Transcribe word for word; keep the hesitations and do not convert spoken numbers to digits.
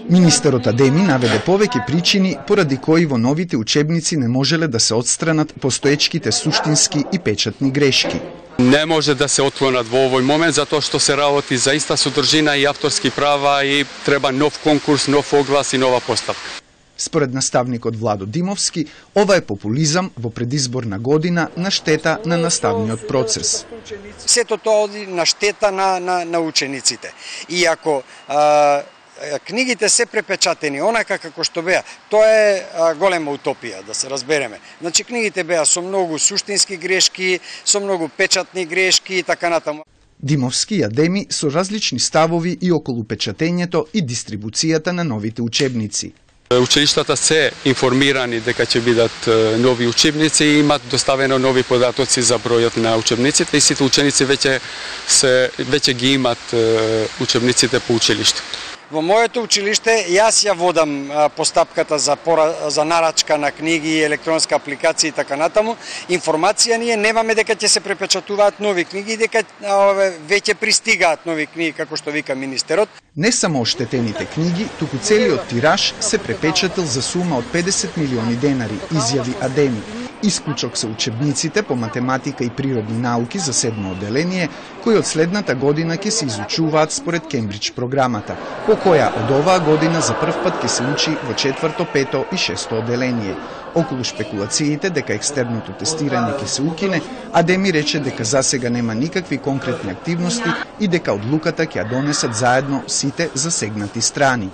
Министерот Адеми наведе повеќе причини поради кои во новите учебници не можеле да се отстранат постоечките суштински и печатни грешки. Не може да се отклонат во овој момент затоа што се работи за иста содржина и авторски права и треба нов конкурс, нов оглас и нова поставка. Според наставникот Владо Димовски, ова е популизам во предизборна година на штета на наставниот процес. Сето тоа оди на штета на, на, на учениците. И ако а, книгите се препечатени онака како што беа, тоа е а, голема утопија, да се разбереме. Значи книгите беа со многу суштински грешки, со многу печатни грешки и така натаму. Димовски и Адеми со различни ставови и околу печатењето и дистрибуцијата на новите учебници. Училиштата се информирани дека ќе бидат нови учебници и имат доставено нови податоци за бројот на учебниците и сите ученици веќе се веќе ги имат учебниците по училиште. Во моето училиште јас ја водам постапката за пора, за нарачка на книги, електронска апликација и така натаму. Информација ние немаме дека ќе се препечатуваат нови книги и дека веќе пристигаат нови книги како што вика министерот. Не само оштетените книги, туку целиот тираж се препечатил за сума од педесет милиони денари, изјави Адеми. Исклучок се учебниците по математика и природни науки за седмо оделение, кои од следната година ќе се изучуваат според Кембридж програмата, по која од оваа година за прв пат ќе се учи во четврто, пето и шесто оделение. Околу шпекулациите дека екстерното тестирање ќе се укине, Адеми рече дека засега нема никакви конкретни активности и дека одлуката ќе ја донесат заедно сите засегнати страни.